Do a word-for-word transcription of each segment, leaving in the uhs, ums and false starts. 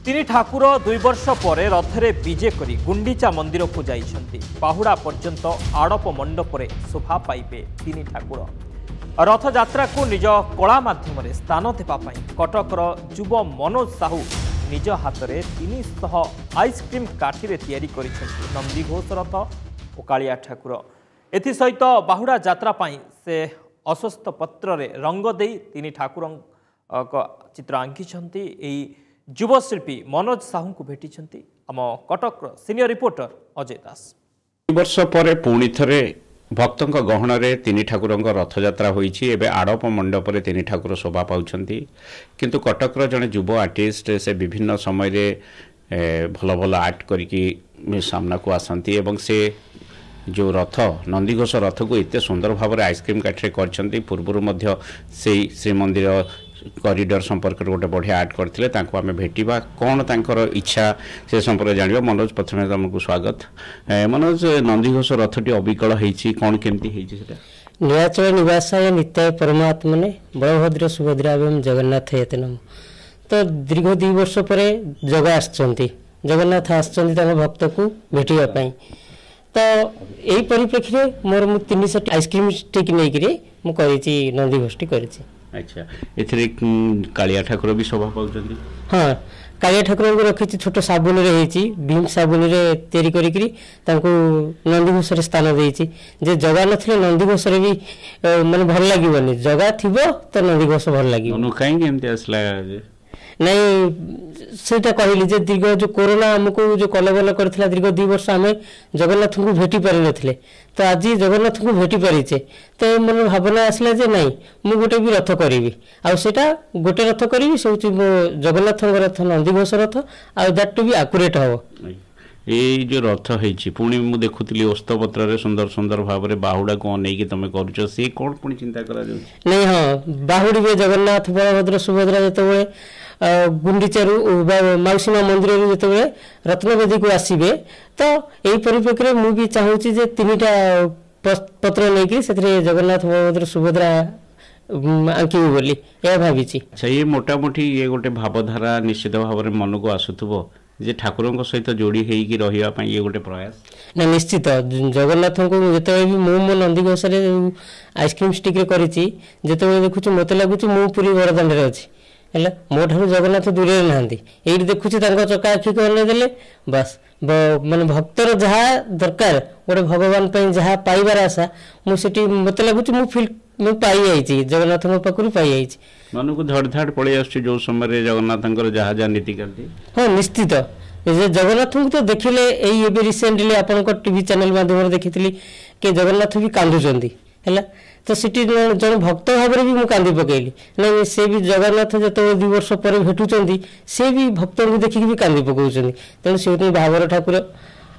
ତିନି ଠାକୁର ଦୁଇ ବର୍ଷ ପରେ ରଥରେ ବିଜେ କରି ଗୁଣ୍ଡିଚା ମନ୍ଦିରକୁ ଯାଇଛନ୍ତି। ବାହୁଡ଼ା ପର୍ଯ୍ୟନ୍ତ ଆଡ଼ପ ମଣ୍ଡପରେ ଶୋଭା ପାଇବେ ତିନି ଠାକୁର। ରଥଯାତ୍ରାକୁ ନିଜ କଳା ମାଧ୍ୟମରେ ସ୍ଥାନ ଦେବା ପାଇଁ କଟକର ଯୁବ ମନୋଜ ସାହୁ ନିଜ ହାତରେ ତିନିଶହ ଆଇସ୍କ୍ରିମ୍ କାଠିରେ ତିଆରି କରିଛନ୍ତି ନନ୍ଦିଘୋଷ ରଥ ଓ କାଳିଆ ଠାକୁର। ଏଥିସହିତ ବାହୁଡ଼ା ଯାତ୍ରା ପାଇଁ ସେ ଅସ୍ୱସ୍ଥ ପତ୍ରରେ ରଙ୍ଗ ଦେଇ ତିନି ଠାକୁରଙ୍କ ଚିତ୍ର ଆଙ୍କିଛନ୍ତି। ଏହି ଯୁବଶିଳ୍ପୀ ମନୋଜ ସାହୁଙ୍କୁ ଭେଟିଛନ୍ତି ଆମ କଟକର ସିନିୟର ରିପୋର୍ଟର ଅଜୟ ଦାସ। ବର୍ଷ ପରେ ପୁଣି ଥରେ ଭକ୍ତଙ୍କ ଗହଣରେ ତିନି ଠାକୁରଙ୍କ ରଥଯାତ୍ରା ହୋଇଛି। ଏବେ ଆଡ଼ପ ମଣ୍ଡପରେ ତିନି ଠାକୁର ଶୋଭା ପାଉଛନ୍ତି। କିନ୍ତୁ କଟକର ଜଣେ ଯୁବ ଆର୍ଟିଷ୍ଟ, ସେ ବିଭିନ୍ନ ସମୟରେ ଭଲ ଭଲ ଆର୍ଟ କରିକି ସାମ୍ନାକୁ ଆସନ୍ତି ଏବଂ ସେ ଯେଉଁ ରଥ ନନ୍ଦିଘୋଷ ରଥକୁ ଏତେ ସୁନ୍ଦର ଭାବରେ ଆଇସ୍କ୍ରିମ୍ କାଠିରେ କରିଛନ୍ତି, ପୂର୍ବରୁ ମଧ୍ୟ ସେଇ ଶ୍ରୀମନ୍ଦିର କରିଡର ସମ୍ପର୍କରେ ଗୋଟେ ବଢ଼ିଆ ଆର୍ଟ କରିଥିଲେ। ତାଙ୍କୁ ଆମେ ଭେଟିବା, କ'ଣ ତାଙ୍କର ଇଚ୍ଛା ସେ ସମ୍ପର୍କରେ ଜାଣିବା। ମନୋଜ, ପ୍ରଥମେ ତୁମକୁ ସ୍ୱାଗତ। ମନୋଜ, ନନ୍ଦିଘୋଷ ରଥଟି ଅବିକଳ ହେଇଛି, କ'ଣ କେମିତି ହେଇଛି ସେଟା? ନୀଳାଚଳ ନିବାସାୟ ନିତ୍ୟାୟ ପରମାତ୍ମନେ ବଳଭଦ୍ର ସୁଭଦ୍ରା ଏବଂ ଜଗନ୍ନାଥ ୟତେ ନମଃ। ତ ଦୀର୍ଘ ଦୁଇ ବର୍ଷ ପରେ ଜଗା ଆସିଛନ୍ତି, ଜଗନ୍ନାଥ ଆସିଛନ୍ତି ତାଙ୍କ ଭକ୍ତକୁ ଭେଟିବା ପାଇଁ। ତ ଏଇ ପରିପ୍ରେକ୍ଷୀରେ ମୋର ମୁଁ ତିନିଶହ ଆଇସ୍କ୍ରିମ୍ ଷ୍ଟିକ୍ ନେଇକିରି ମୁଁ କରିଛି, ନନ୍ଦିଘୋଷଟି କରିଛି। ଆଚ୍ଛା, ଏଥିରେ କାଳିଆ ଠାକୁର ବି ଶୋଭା ପାଉଛନ୍ତି? ହଁ, କାଳିଆ ଠାକୁରଙ୍କୁ ରଖିଛି, ଛୋଟ ସାବୁନରେ ହେଇଛି, ଭୀମ ସାବୁନରେ ତିଆରି କରିକିରି ତାଙ୍କୁ ନନ୍ଦିଘୋଷରେ ସ୍ଥାନ ଦେଇଛି। ଯେ ଜଗା ନଥିଲେ ନନ୍ଦିଘୋଷରେ ବି ମାନେ ଭଲ ଲାଗିବନି, ଜଗା ଥିବ ତ ନନ୍ଦିଘୋଷ ଭଲ ଲାଗିବ। କାହିଁକି ଏମିତି ଆସିଲା? ନାଇଁ, ସେଇଟା କହିଲି ଯେ ଦୀର୍ଘ ଯେଉଁ କୋରୋନା ଆମକୁ ଯେଉଁ କଲବଲ କରିଥିଲା, ଦୀର୍ଘ ଦୁଇ ବର୍ଷ ଆମେ ଜଗନ୍ନାଥଙ୍କୁ ଭେଟି ପାରିନଥିଲେ। ତ ଆଜି ଜଗନ୍ନାଥଙ୍କୁ ଭେଟି ପାରିଛେ, ତ ମୋର ଭାବନା ଆସିଲା ଯେ ନାଇଁ, ମୁଁ ଗୋଟେ ବି ରଥ କରିବି, ଆଉ ସେଇଟା ଗୋଟେ ରଥ କରିବି, ସେ ହେଉଛି ମୋ ଜଗନ୍ନାଥଙ୍କ ରଥ, ନନ୍ଦିଘୋଷ ରଥ, ଆଉ that two B accurate ହେବ। ଏଇ ଯେଉଁ ରଥ ହେଇଛି, ପୁଣି ମୁଁ ଦେଖୁଥିଲି ଓସ୍ତପତ୍ରରେ ସୁନ୍ଦର ସୁନ୍ଦର ଭାବରେ ବାହୁଡ଼ାକୁ ଅନେଇକି ତମେ କରୁଛ, ସିଏ କ'ଣ ପୁଣି ଚିନ୍ତା କରାଯାଉଛି? ନାଇଁ, ହଁ, ବାହୁଡ଼ିବେ ଜଗନ୍ନାଥ ବଳଭଦ୍ର ସୁଭଦ୍ରା ଯେତେବେଳେ ଗୁଣ୍ଡିଚାରୁ ବା ମାଉସୀ ମା ମନ୍ଦିରରୁ ଯେତେବେଳେ ରତ୍ନବେଦୀକୁ ଆସିବେ, ତ ଏଇ ପରିପ୍ରେକ୍ଷୀରେ ମୁଁ ବି ଚାହୁଁଛି ଯେ ତିନିଟା ପତ୍ର ନେଇକି ସେଥିରେ ଜଗନ୍ନାଥ ବଳଭଦ୍ର ସୁଭଦ୍ରା ଆଙ୍କିବି ବୋଲି ଏହା ଭାବିଛି। ଆଚ୍ଛା, ଇଏ ମୋଟାମୋଟି ଇଏ ଗୋଟେ ଭାବଧାରା ନିଶ୍ଚିତ ଭାବରେ ମନକୁ ଆସୁଥିବ ଯେ ଠାକୁରଙ୍କ ସହିତ ଯୋଡ଼ି ହେଇକି ରହିବା ପାଇଁ ଇଏ ଗୋଟେ ପ୍ରୟାସ? ନା, ନିଶ୍ଚିତ। ଜଗନ୍ନାଥଙ୍କୁ ଯେତେବେଳେ ବି ମୁଁ ମୋ ନନ୍ଦିଘୋଷରେ ଆଇସ୍କ୍ରିମ୍ ଷ୍ଟିକ୍ରେ କରିଛି, ଯେତେବେଳେ ଦେଖୁଛି ମୋତେ ଲାଗୁଛି ମୁଁ ପୁରୀ ବଡ଼ଦାଣ୍ଡରେ ଅଛି। ହେଲା, ମୋ ଠାରୁ ଜଗନ୍ନାଥ ଦୂରରେ ନାହାନ୍ତି। ଏଇଠି ଦେଖୁଛି ତାଙ୍କ ଚକା ଆଖିକୁ ଅନେଇ ଦେଲେ ବାସ୍, ମାନେ ଭକ୍ତର ଯାହା ଦରକାର, ଗୋଟେ ଭଗବାନ ପାଇଁ ଯାହା ପାଇବାର ଆଶା, ମୁଁ ସେଠି ମୋତେ ଲାଗୁଛି ମୁଁ ଫିଲ୍ ମୁଁ ପାଇଯାଇଛି, ଜଗନ୍ନାଥଙ୍କ ପାଖରୁ ପାଇଯାଇଛି। ମନକୁ ଧଡ଼ ଧାଡ଼ ପଳେଇ ଆସୁଛି ଯେଉଁ ସମୟରେ ଜଗନ୍ନାଥଙ୍କର ଯାହା ଯାହା ନୀତିକାନ୍ତି? ହଁ, ନିଶ୍ଚିତ। ଯେ ଜଗନ୍ନାଥଙ୍କୁ ତ ଦେଖିଲେ, ଏଇ ଏବେ ରିସେଣ୍ଟଲି ଆପଣଙ୍କ ଟିଭି ଚ୍ୟାନେଲ ମାଧ୍ୟମରେ ଦେଖିଥିଲି କି ଜଗନ୍ନାଥ ବି କାନ୍ଦୁଛନ୍ତି। ହେଲା, ତ ସେଠି ଜଣେ ଭକ୍ତ ଭାବରେ ବି ମୁଁ କାନ୍ଦି ପକେଇଲି। ନାଇଁ, ସେ ବି ଜଗନ୍ନାଥ ଯେତେବେଳେ ଦୁଇ ବର୍ଷ ପରେ ଭେଟୁଛନ୍ତି, ସେ ବି ଭକ୍ତଙ୍କୁ ଦେଖିକି ବି କାନ୍ଦି ପକାଉଛନ୍ତି। ତେଣୁ ସେ ହେଉଛନ୍ତି ଭାବର ଠାକୁର,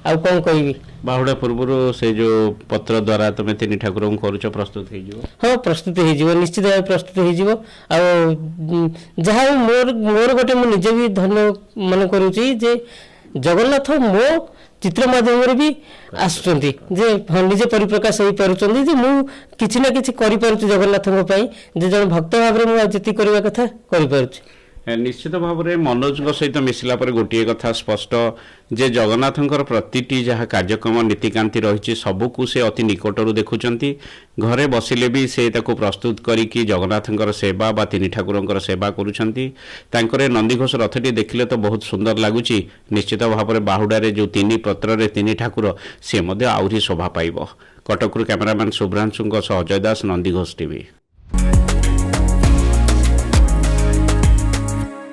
ଆଉ କ'ଣ କହିବି। ବାହୁଡ଼ା ପୂର୍ବରୁ ସେ ଯେଉଁ ପତ୍ର ଦ୍ୱାରା ତମେ ତିନି ଠାକୁରଙ୍କୁ କରୁଛ, ପ୍ରସ୍ତୁତ ହେଇଯିବ? ହଁ, ପ୍ରସ୍ତୁତ ହେଇଯିବ, ନିଶ୍ଚିତ ଭାବେ ପ୍ରସ୍ତୁତ ହେଇଯିବ। ଆଉ ଯାହା ହଉ, ମୋର ମୋର ଗୋଟେ ମୁଁ ନିଜେ ବି ଧନ୍ୟ ମନେ କରୁଛି ଯେ ଜଗନ୍ନାଥ ମୋ ଚିତ୍ର ମାଧ୍ୟମରେ ବି ଆସୁଛନ୍ତି, ଯେ ନିଜେ ପରିପ୍ରକାଶ ହେଇପାରୁଛନ୍ତି, ଯେ ମୁଁ କିଛି ନା କିଛି କରିପାରୁଛି ଜଗନ୍ନାଥଙ୍କ ପାଇଁ, ଯେ ଜଣେ ଭକ୍ତ ଭାବରେ ମୁଁ ଯେତିକି କରିବା କଥା କରିପାରୁଛି। ନିଶ୍ଚିତ ଭାବରେ ମନୋଜଙ୍କ ସହିତ ମିଶିଲା ପରେ ଗୋଟିଏ କଥା ସ୍ପଷ୍ଟ ଯେ ଜଗନ୍ନାଥଙ୍କର ପ୍ରତିଟି ଯାହା କାର୍ଯ୍ୟକ୍ରମ ନୀତିକାନ୍ତି ରହିଛି, ସବୁକୁ ସେ ଅତି ନିକଟରୁ ଦେଖୁଛନ୍ତି। ଘରେ ବସିଲେ ବି ସେ ତାକୁ ପ୍ରସ୍ତୁତ କରିକି ଜଗନ୍ନାଥଙ୍କର ସେବା ବା ତିନି ଠାକୁରଙ୍କର ସେବା କରୁଛନ୍ତି। ତାଙ୍କର ନନ୍ଦିଘୋଷ ରଥଟି ଦେଖିଲେ ତ ବହୁତ ସୁନ୍ଦର ଲାଗୁଛି। ନିଶ୍ଚିତ ଭାବରେ ବାହୁଡ଼ାରେ ଯେଉଁ ତିନି ପତ୍ରରେ ତିନି ଠାକୁର, ସେ ମଧ୍ୟ ଆହୁରି ଶୋଭା ପାଇବ। କଟକରୁ କ୍ୟାମେରାମ୍ୟାନ୍ ଶୁଭ୍ରାଂଶୁଙ୍କ ସହ ଅଜୟ ଦାସ, ନନ୍ଦିଘୋଷ ଟିଭି।